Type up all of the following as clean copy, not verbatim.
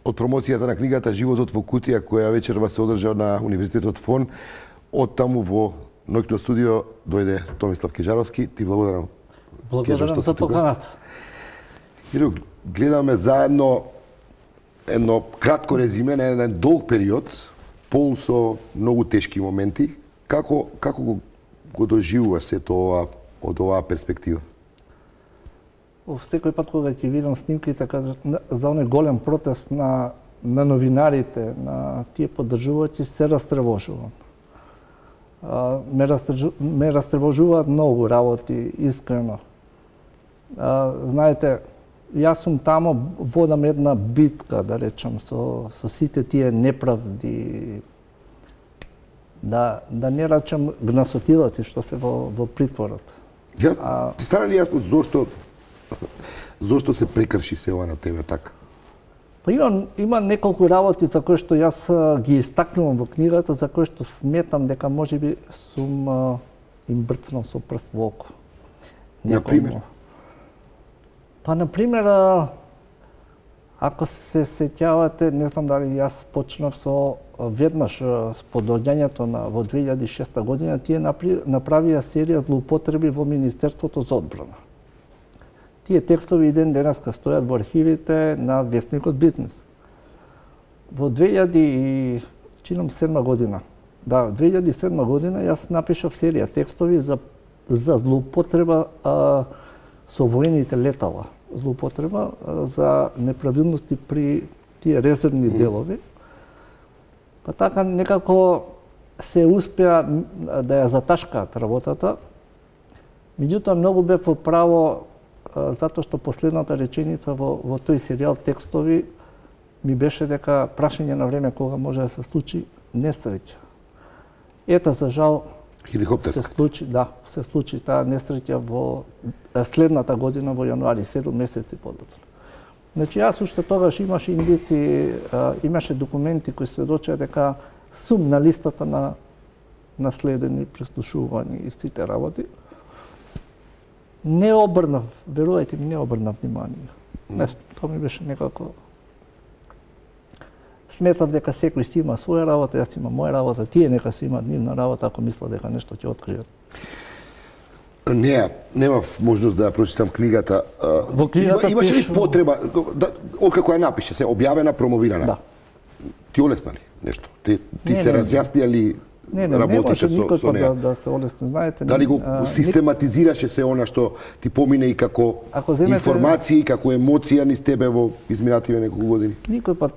од промоцијата на книгата Животот во кутија, која вечерва се одржа на Универзитетот ФОН. Од таму во ноќно студио дојде Томислав Кежаровски. Ти благодарам. Благодарам за поканата. Киро, гледаме заедно едно кратко резиме на еден долг период, полн со многу тешки моменти. Како го доживуваш сето ова од оваа перспектива? Секој пат кога ќе видам снимките за оној голем протест на новинарите, на тие поддржувачи, се растревожувам. Ме растревожуваат многу работи, искрено. Знаете, јас сум тамо, водам една битка, да речам, со сите тие неправди, да не речам гнасотилаци што се во притворот. Ти стана ли јасно зошто се прекрши се ова на тебе така? Па има неколку работи за кои што јас ги истакнувам во книгата, за кои што сметам дека можеби сум им брцнал со прст во око. Например? Па, например, ако се сеќавате, не знам дали јас почнав со веднаш по доаѓањето во 2006 година, тие направија серија злоупотреби во Министерството за одбрана. Тие текстови и ден денеска стојат во архивите на Весникот Бизнес. Во 2007 година, 2007 година јас напишав серија текстови за злоупотреба со воените летала, злоупотреба за неправилности при тие резервни делови. Па така некако се успеа да ја заташкаат работата. Меѓутоа многу бев во право затоа што последната реченица во тој серијал текстови ми беше дека прашање на време кога може да се случи несреќа. Ета, за жал, се случи таа несреќа во следната година во јануари, 7 месеци подоцна. Значи, јас уште тогаш имаше индици, имаше документи кои сведочеа дека сум на листата на наследени, преслушувани и сите работи. Не обрнав, верувајте ми, не обрнав внимание. Тоа ми беше некако... Сметав дека секој си има своја работа, јас имам моја работа, тие нека си имаат нивна работа, ако мислат дека нешто ќе откријат. Немав можност да ја прочитам книгата. Во книгата имаше ли потреба, откако ја напише, се објавена, промовирана? Да. Ти олесна ли нешто? Ти се разјаснија ли работите со неја? Да се олесни, знаете. Дали го систематизираше се она што ти помине и како информација и како емоција низ тебе во изминативе неколку години? Никој пат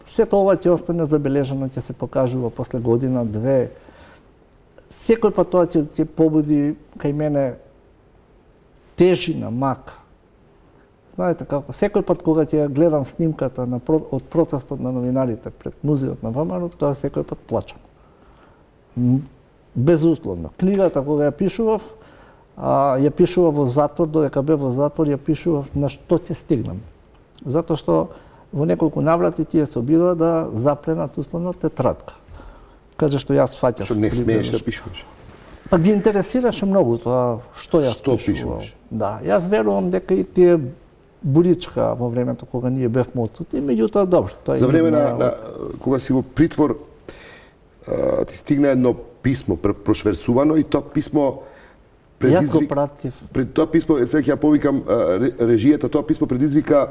сето ова ќе остане забележано, ќе се покажува после година, две. Секој пат тоа ќе побуди кај мене тежина, мака. Знаете како, секој пат кога ќе гледам снимката од протестот на новинарите пред музеот на ВМРО, тоа секој пат плачам. Безусловно. Книгата кога ја пишував во затвор, додека бев во затвор, ја пишував на што ќе стигнам. Затоа што во неколку наврати тие се обидува да запленат условно тетрадка. Каже што јас фаќав. Што не смееш да пишуваш? Па ги интересираше многу тоа што јас пишував. Да, јас верувам дека и тие буричка во времето кога ние бевме отсутни, меѓутоа добро. За време на кога си во притвор ти стигна едно писмо прошверцувано и тоа писмо Јас го пратив. Пред тоа писмо, сега ќе ја повикам режијата, тоа писмо предизвика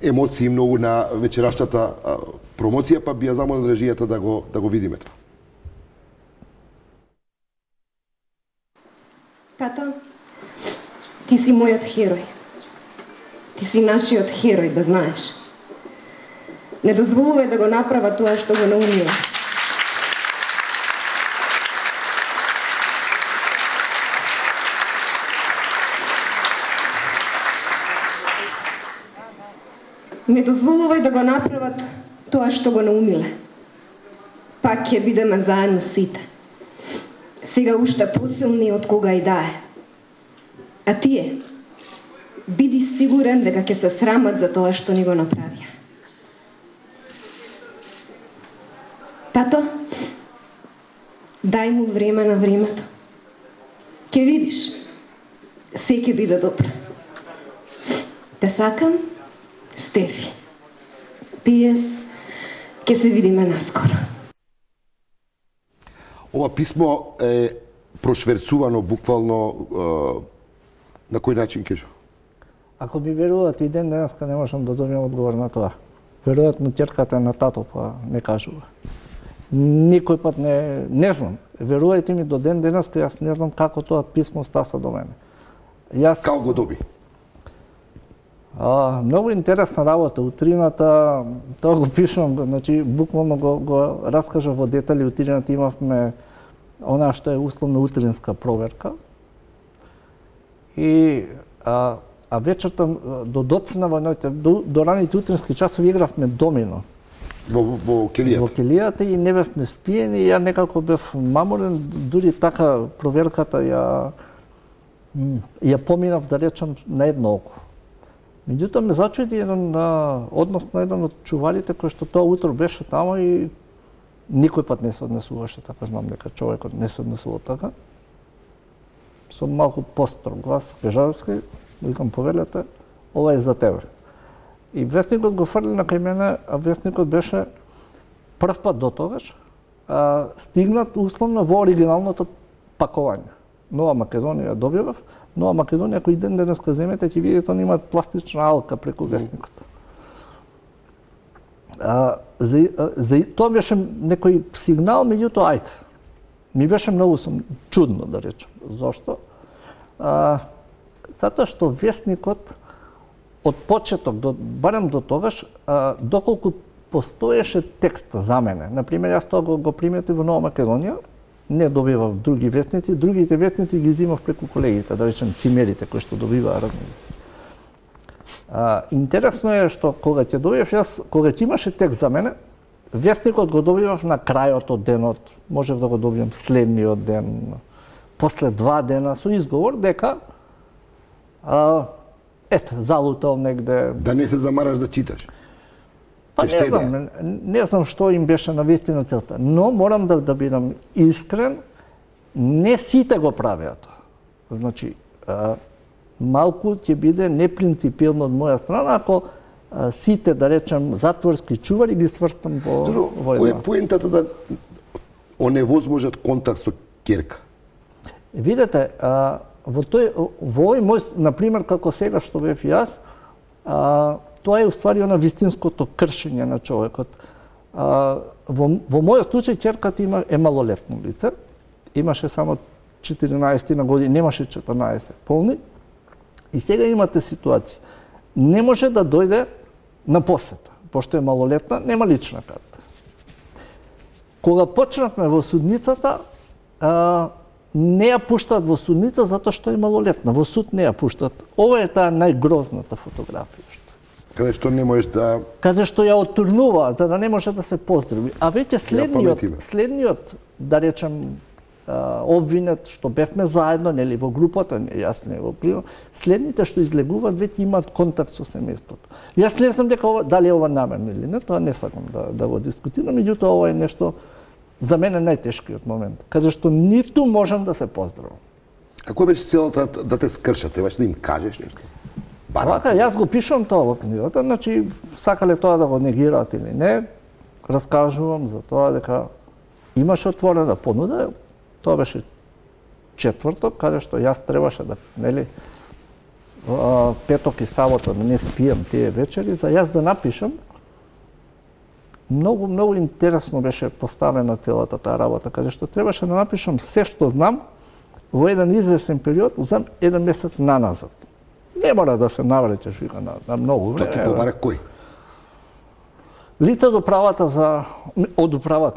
емоции многу на вечерашната промоција, па би ја замолил режијата да го видиме тоа. Тато, ти си мојот херој. Ти си нашиот херој, да знаеш. Не дозволувај да го направа тоа што го наумила. Не дозволувај да го направат тоа што го наумиле. Пак ќе бидеме заедно сите. Сега уште посилни од кога и да е. А тие, биди сигурен дека ќе се срамат за тоа што ни го направија. Тато, дај му време на времето. Ќе видиш, се ќе биде добро. Те сакам, Стефи. Пиес, ке се видиме наскоро. Ова писмо е прошверцувано буквално на кој начин кажа? Ако ми верувате и ден денеска не можам да добиам одговор на тоа. Веројатно ќерката на тато па не кажува. Никој пат не знам. Верувајте ми, до ден денеска јас не знам како тоа писмо стаса до мене. Како го доби? Многу интересна работа. Утрината, тоа го пишам, значи буквално го раскажав во детали. Утрината имавме она што е условно утринска проверка. И вечерта до доцна во ноќта, до раните утрински часови игравме домино. Во келијата? Во келијата и не бевме спиени, ја некако бев маморен, дури така проверката ја поминав, да речам, на едно око. Меѓутоа ме зачуди еден однос на еден од чуварите кој што тоа утро беше тамо и никој пат не се однесуваше така, знам дека човекот не се однесувал така. Со малку построг глас, Бежарски, викам повелете, ова е за тебе. И вестникот го фрли на кај мене, а вестникот беше прв пат до тогаш стигнат условно во оригиналното пакување. Нова Македонија добивав. Нова Македонија, кој ден денеска земете, ќе видите, они имаат пластична алка преку вестникот. Тоа беше некој сигнал, меѓутоа, ајде. Ми беше многу чудно, да речем. Зошто? Затоа што вестникот од почеток, барем до тогаш, доколку постоеше текст за мене. Например, јас тоа го приметив во Нова Македонија, не добивав други вестници, другите вестници ги взимав преку колегите, да речем цимерите кои што добиваа разни. Интересно е што кога ќе добивав јас, кога ќе имаше текст за мене, вестникот го добивав на крајот од денот, можев да го добијам следниот ден, после 2 дена со изговор дека залутал негде. Да не се замараш да читаш. Па не знам што им беше навистина целта, но морам да бидам искрен, не сите го правеа тоа. Значи, малку ќе биде непринципилно од моја страна ако сите, да речем, затворски чувари ги сврстам во една. Кој е поентата да оневозможат контакт со ќерка? Видете, во овој мој, например, како сега што бев јас, тоа е уствари на вистинското кршење на човекот. Во мојот случај ќерката е малолетно лице, имаше само 14 на години, немаше 14 полни, и сега имате ситуација. Не може да дојде на посета, пошто е малолетна, нема лична карта. Кога почнавме во судницата, не ја пуштаат во судница затоа што е малолетна, во суд не ја пуштаат. Ова е таа најгрозната фотографија. Каде што не можеш да... Каде што ја отурнуваат, за да не може да се поздрави. А веќе следниот, да речем, обвинет, што бевме заедно, нели, во групата, јас не го примам, следните што излегуваат, веќе имаат контакт со семејството. Јас не знам дека дали е ова намерно или не, тоа не сакам да го дискутирам, меѓутоа ова е нешто за мене најтешкиот момент, каде што ниту можам да се поздравам. А кој беше целата да те скршат? Требаш да им кажеш нешто? Вака, јас го пишувам тоа во книгата, значи сакале тоа да го негираат или не, раскажувам за тоа дека имаше отворена понуда, тоа беше четврток, каде што јас требаше да, нели, петок и сабота да не спијам тие вечери, за јас да напишам. Многу интересно беше поставена целата таа работа, каде што требаше да напишам се што знам во еден известен период за еден месец наназад. Не мора да се навлечеш вика на многу време. Тоа ти побара кој? Лице од управата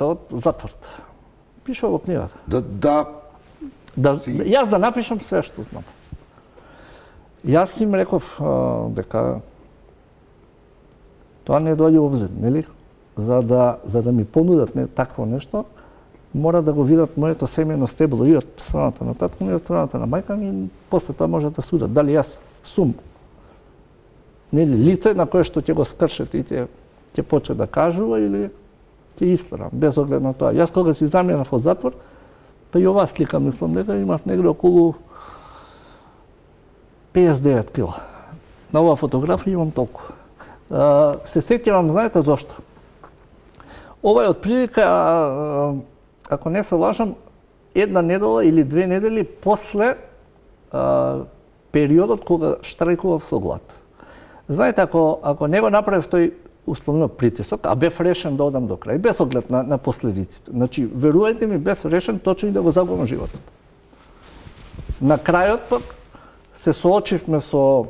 од затворот. Пише во книгата. Јас да напишам се што знам. Јас им реков дека тоа не доаѓа во обзир, нели? За да ми понудат такво нешто, мора да го видат моето семејно стебло и од страната на татко ми и од страната на мајка ми, и после тоа може да судат дали јас сум нели лице на кое што ќе го скршат и ќе почне да кажува или ќе истрам, без оглед на тоа. Јас кога си заминав од затвор, па и оваа слика мислам дека имав негде околу 59 кила. На оваа фотографија имам толку. Се сеќавам, знаете зошто? Ова е отприлика, ако не се лажам, една недела или две недели после периодот кога штрајкував со глад. Знаете, ако не го направив тој условно притисок, а бев решен да одам до крај, без оглед на последиците. Значи, верувајте ми, бев решен точно и да го загубам животот. На крајот пак се соочивме со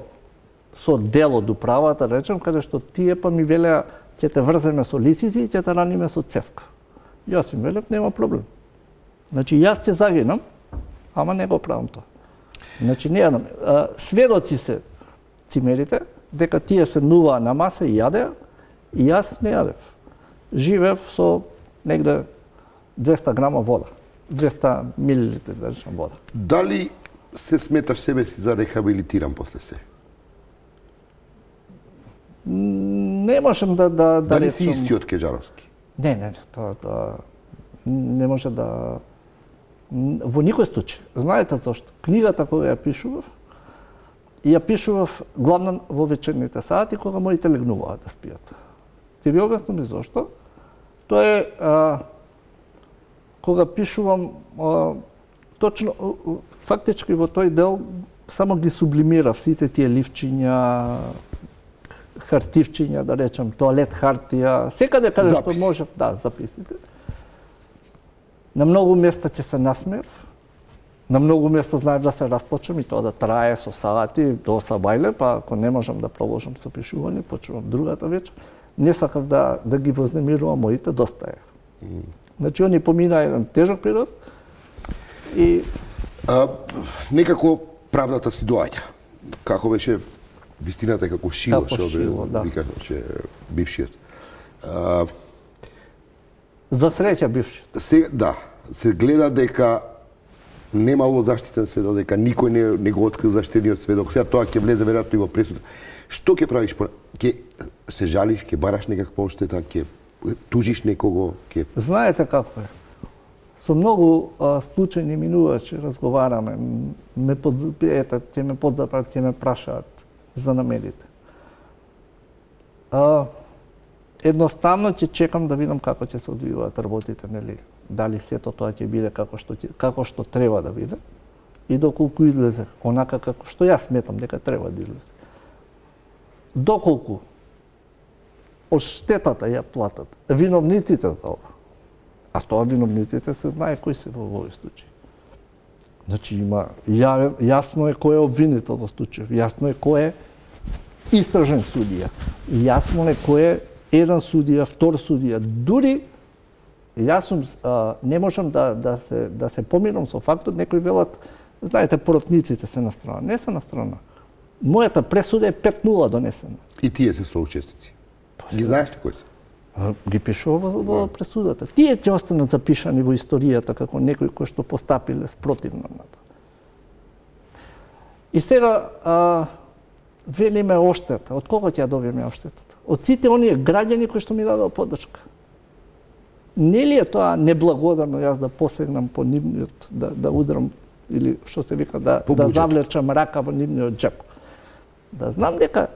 дело до правата, речем, каде што тие па ми велеа ќе те врземе со лисици и ќе те раниме со цевка. Јас им велев, нема проблем. Значи, јас ќе загинам, ама не го правам тоа. Значи, не јадам. Сведоци се цимерите, дека тие се нуваа на маса и јадеа, и јас не јадев. Живеев со негде 200 грама вода. 200 милилитри, да речем, вода. Дали се сметаш себе си за рехабилитиран после се? Не можем да Дали речем... си истиот Кеџаровски? Не, тоа не може да... Во никој случај. Знаете зашто? Книгата која ја пишував, ја пишував главно во вечерните сати, кога моите легнуваа да спијат. Ти ви објаснам и зашто. Тоа е кога пишувам точно фактички во тој дел само ги сублимирав сите тие ливчиња, хартивчиња, да речем, тоалет хартија, секаде каде што можев, да, записите. На многу места ќе се насмеев, на многу места знаев да се расплачам и тоа да трае со сати до сабајле, па ако не можам да продолжам со пишување, почнувам другата вечер. Не сакав да ги вознемирувам моите, доста е. Значи, они помина еден тежок период и... Некако правдата си доаѓа. Како беше вистината како шило, викаше бившиот. За среќа бившиот. Да, се гледа дека немало заштитен сведок, дека никој не го открил заштитениот сведок. Сега тоа ќе влезе веројатно и во пресуда. Што ќе правиш? Ќе се жалиш, ќе бараш некаква одштета, ќе тужиш некого, ќе... Знаете како е. Со многу случајни минувачи разговараме, ќе ме подзапрат, ќе ме прашаат за намерите. Едноставно ќе чекам да видам како ќе се одвиваат работите, нели? Дали сето тоа ќе биде како што треба да биде и доколку излезе онака како што јас сметам дека треба да излезе. Доколку одштетата ја платат виновниците за ова, а тоа виновниците се знае кои се во овој случај. Значи има јасно е кој е обвинител во случајот, јасно е кој е истражен судија, јасно е кој е еден судија, втор судија, дури јас не можам да се помирам со фактот, некои велат, знаете, поротниците се на страна. Не се на страна. Мојата пресуда е 5-0 донесена. И тие се соучесници. Ги знаеш ли кои се? Ги пишува во пресудата. Тие ќе останат запишани во историјата како некои кои што постапиле спротивно на тоа. И сега велиме оштета. Од кого ќе ја добиеме оштетата? Од сите оние граѓани кои што ми дадоа поддршка. Нели е тоа неблагодарно јас да посегнам по нивниот, да удрам или што се вика да завлечам рака во нивниот џеп. Да знам дека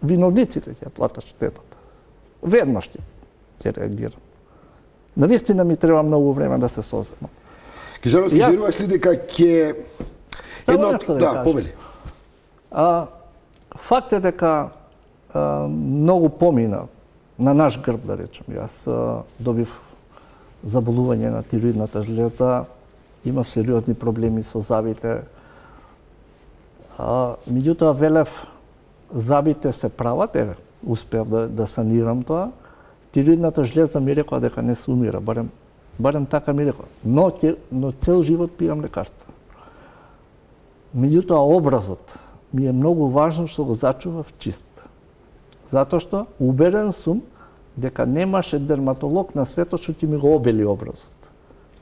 виновниците ќе платат штетата. Веднаш ќе реагирам. Навистина ми треба многу време да се соземам. Кеџаровски, веруваш ли дека ќе да повели. Факт е дека многу помина на наш грб, да речем. Јас добив заболување на тироидната жлеза, имав сериозни проблеми со забите. Меѓутоа велев, забите се прават, успеав да санирам тоа. Тироидната жлеза ми рекоа дека не се умира, барем така ми рекоа. Но цел живот пијам лекарства. Меѓутоа образот ми е многу важно што го зачував чист. Затоа што убеден сум дека немаше дерматолог на светот што ќе ми го обели образот.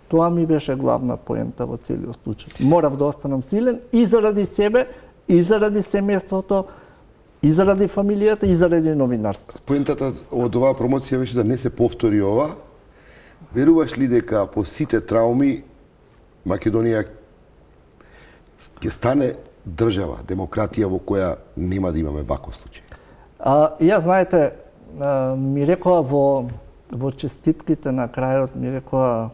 Тоа ми беше главна поента во целиот случај. Морав да останам силен и заради себе, и заради семејството, и заради фамилијата, и заради новинарството. Поентата од оваа промоција беше да не се повтори ова. Веруваш ли дека по сите трауми Македонија ќе стане држава, демократија во која нема да имаме ваков случај? Ја знаете, ми рекоа во честитките на крајот, ми рекоа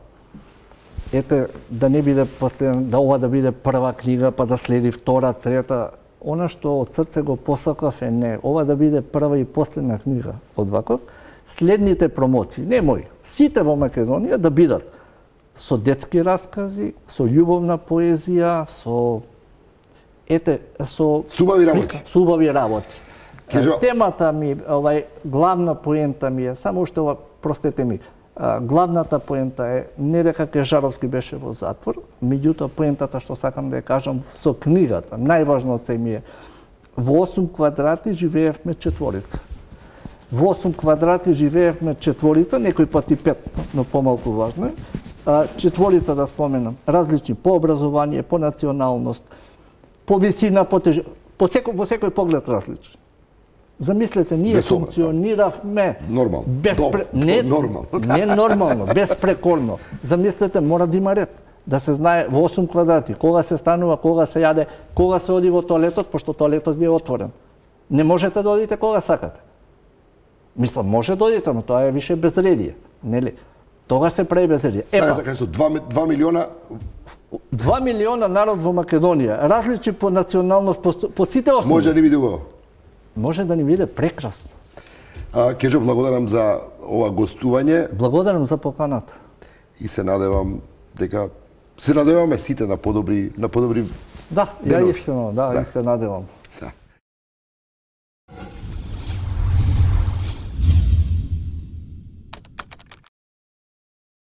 ете да не биде последен, да ова да биде прва книга, па да следи втора, трета. Она што од срце го посакав е не, ова да биде прва и последна книга од ваков. Следните промоции, не мои, сите во Македонија да бидат со детски раскази, со љубовна поезија, со убави работи. Со убави работи. Темата ми, главна поента ми е, само уште ова, простете ми, главната поента е не дека Кежаровски беше во затвор, меѓутоа поентата што сакам да ја кажам со книгата, најважното ми е, во 8 квадрати живеевме четворица. Во 8 квадрати живеевме четворица, некој пати 5, но помалку важно е. Четворица да споменам, различни по образование, по националност, по висина, во секој поглед различни. Замислете, ние функциониравме нормално. Не нормално, безпрекорно. Замислете, мора да има ред. Да се знае во 8 квадрати кога се станува, кога се јаде, кога се оди во тоалетот, пошто тоалетот ви е отворен. Не можете да одите кога сакате. Мислам, може да одите, но тоа е више безредие, нели? Тогаш се прави безредие. Така се 2 милиона 2 милиона народ во Македонија, различни по националност, по сите основи. Може да ни биде убаво. Може да ни биде прекрасно. Кежо, благодарам за ова гостување. Благодарам за поканата. И се надевам дека се надеваме сите на подобри Да, ја искрено, и се надевам.